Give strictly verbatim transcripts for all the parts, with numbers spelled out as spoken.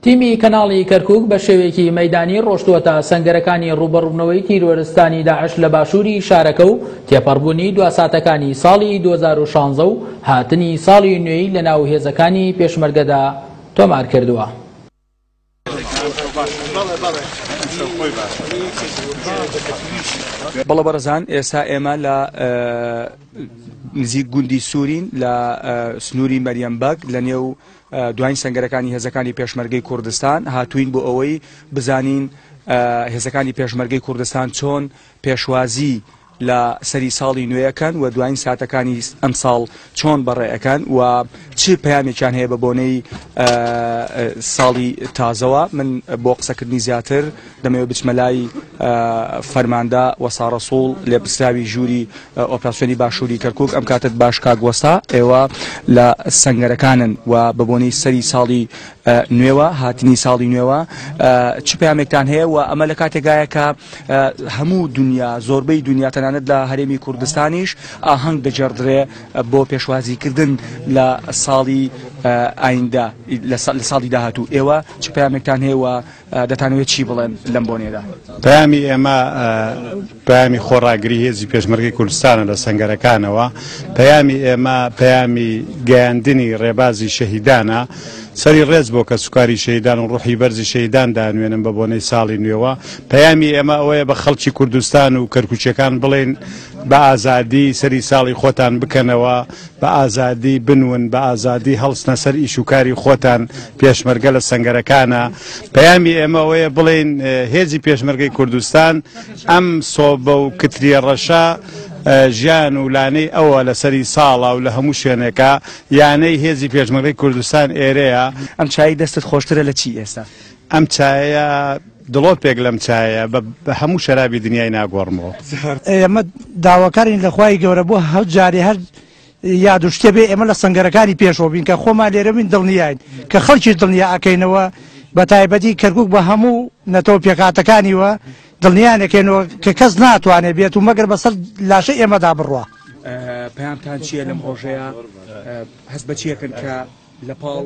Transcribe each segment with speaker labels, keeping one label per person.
Speaker 1: تیمی کەناڵی کەرکوک بە شێوەیەکی مەیدانی ڕۆشتووەتە سەنگەرەکانی ڕووبەڕوونەوەی تیرۆرستانی داعش لە باشووری شارەکە و تێپەڕبوونی دوا ساتەکانی ساڵی دوو هەزار و شانزە و هاتنی ساڵی نوێی لەناو هێزەکانی پێشمەرگەدا تۆمار کردووە.
Speaker 2: بەڵێ بەڕێزان، ئێستا ئێمە لە نزیک گوندی سوورین لە سنووری مەریەم بەگ لە نێو دوایین سەنگەرەکانی هێزەکانی پێشمەرگەی کوردستان هاتوین بۆ ئەوەی بزانین هێزەکانی پێشمەرگەی کوردستان چۆن پێشوازی لە سەری ساڵی نوێیەکەن و دوایین ساتەکانی ئەم ساڵ چۆن بەڕێەکەن و چ پەیامێکیان هەیە بە بۆنەی ساڵی تازەوە. من بۆ قسەکردنی زیاتر دەمەوێت بچمە لای فەرماندە وەستا ڕەسوڵ لێپرسراوی ژووری ئۆپراسیۆنی باشووری کەرکوک. ئەم کاتت باش کاک وەستا، ئێوە لە سەنگەرەکانن و بە بۆنەی سەری ساڵی نوێوە هاتنی ساڵی نوێوە چ پەیامێکتان هەیە و ئەمە لە کاتێکایە کە هەموو دنیا، زۆربەی دنیا، تەنانەت لە هەرێمی کوردستانیش ئاهەنگ دەگێڕدرێ بۆ پێشوازیکردن لە ساڵی ئایندە، لە ساڵی داهاتوو. ئێوە چ پەیامێکتان هەیە و دەتانەوێت چی بڵێن لەم بۆنێدا؟
Speaker 3: پەیامی ئێمە پەیامی خۆڕاگری هێزی پێشمەرگەی کوردستانە لە سەنگەرەکانەوە. پەیامی ئێمە پەیامی گەیاندنی ڕێبازی شەهیدانە. سەری ڕێز بۆ کەسوکاری شەهیدان و ڕوحی بەرزی شەهیدان دانوێنم بە بۆنەی ساڵی نوێوە. پەیامی ئێمە ئەوەیە بە خەڵکی کوردستان و کەرکوچیەکان بڵێن بە ئازادی سەری ساڵی خۆتان بکەنەوە، بە ئازادی بنون، بە ئازادی هەڵسنە سەر ئیش و کاری خۆتان. پێشمەرگە لە سەنگەرەکانە. پەیامی ئێمە ئەوەیە بڵێن هێزی پێشمەرگەی کوردستان ئەم سۆبە و کتریە ڕەشە ژیان و لانەی ئەوە لە سەری ساڵە و لە هەموو شوێنێکە. یانەی هێزی پێشمەرگەی کوردستان ئێرەیە.
Speaker 2: ئەم چای دەستت خۆشترە لە چی ئێستا؟
Speaker 3: ئەم چایە دڵۆپێک لەم چایە بە هەموو شەرابی دنیای ناگۆڕمەوە.
Speaker 4: ئێمە داواکارین لە خوای گەورە بۆ هەر جارێ هەر یاد و شتێ بێ ئێمە لە سەنگەرەکانی پێشەوە بین کە خۆمان لێرە بین دڵنیاین کە خەڵکی دڵنیا ئەکەینەوە، بە تایبەتی کەرکوک بە هەموو نەتەوە پێکهاتەکانیوە دڵنیانەکەینەوە کە کەس ناتوانێت بێت و مەگەر بەسەر لاشەی ئێمەدا بڕوا.
Speaker 2: پەیامتان چییە لەم ڕۆژەیە؟ هەست بە چیەکەن کە لە پاڵ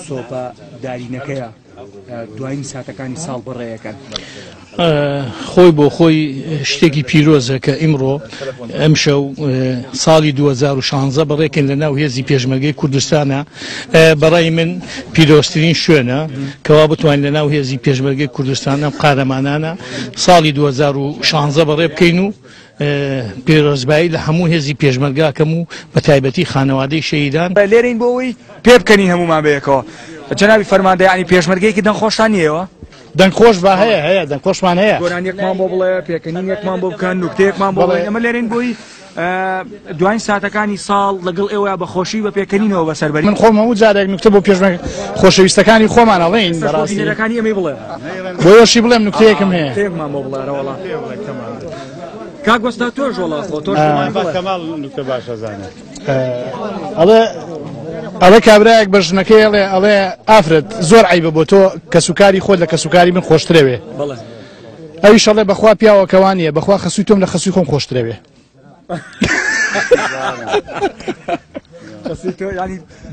Speaker 2: سۆپە دارینەکەیە دوایین ساتەکانی ساڵ بڕێیەکەن؟
Speaker 5: خۆی بۆ خۆی شتێکی پیرۆزە کە ئیمڕۆ ئەمشەو ساڵی دوو هەزار و شانزە بەڕێکن لە ناو هێزی پێشمەرگەی کوردستانە. بەڕای من پیرۆزترین شوێنە کەوا بتوانین لە ناو هێزی پێشمەرگەی کوردستان ئەم قارەمانانە ساڵی دوو هەزار و شانزە بەڕێ بکەین و پیرۆزبایی لە هەموو هێزی پێشمەرگاکەم و بە تایبەتی خانەوادەی شەهیدان.
Speaker 2: لێرەین بۆ ئەوەی پێ بکەنین هەمومان بەیەکەوە. جەنابی فەرماندە، یعنی پێشمەرگەیەکی دەنگخۆشتان نییەوە؟
Speaker 4: دەنگخۆش با هەیە، هەیە دەنگخۆشمان هەیە.
Speaker 2: گۆرانیەکمان بۆ بڵێ، پێکەنینێکمان بۆ بکەن، نوکتەیەکمان بۆ بڵێ. ئێمە لێرەین بۆی دوایین ساتەکانی ساڵ لەگەڵ ئێوە بە خۆشی بە پێکەنینەوە بەسەربەری.
Speaker 4: من خۆم هەموو جارێک نوکتە بۆ پێشمەرگە خۆشەویستەکانی خۆمان ئەڵێین. بەڕاستی
Speaker 2: بینەرەکانی ئێمەی بڵێ.
Speaker 4: بۆ ئێوەشی بڵێم نوکتەیەکم هەیە.
Speaker 2: نوکتەیەکمان بۆ بڵێ، وەڵا. کاک وەستا تۆش وەڵا خۆ تۆش بڵێ.
Speaker 3: کەمال نوکتە باشە زانێت.
Speaker 4: ئەڵێ ئەڵێ کابرایەک بە ژنەکەی ئەڵێ ئەڵێ ئافرەت زۆر عەیبە بۆ تۆ کەسوکاری خۆت لە کەسوکاری من خۆشترەوێ. ئەویش ئەڵێ بەخوا پیاوەکەوان نییە، بەخوا خەسووی تۆم لە خەسووی خۆم خۆشترەوێ.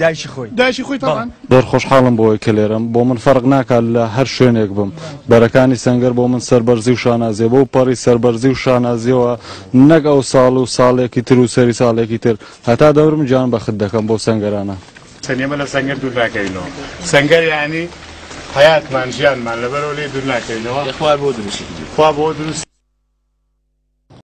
Speaker 2: دایکی خۆی.
Speaker 4: دایکی خۆی تەبعەن.
Speaker 6: زۆر خۆشحاڵم بۆی کە لێرەم. بۆ من فەرق ناکات لە هەر شوێنێک بم. بەرەکانی سەنگەر بۆ من سەربەرزی و شانازیە، بۆ پەڕی سەربەرزی و شانازیەوە نەک ئەو ساڵ و ساڵێکی تر و سەری ساڵێکی تر هەتا دەورم گیان بەخت دەکەم بۆ سەنگەرانە.
Speaker 3: ئێمە لە سەنگەر دوور ناکەینەوە. سەنگەر یعنی حیاتمان ژیانمان لەبەرەوە لێ دوور ناکەینەوە.
Speaker 7: خوا بۆ دروستی کردی.
Speaker 3: خوا بۆ دروست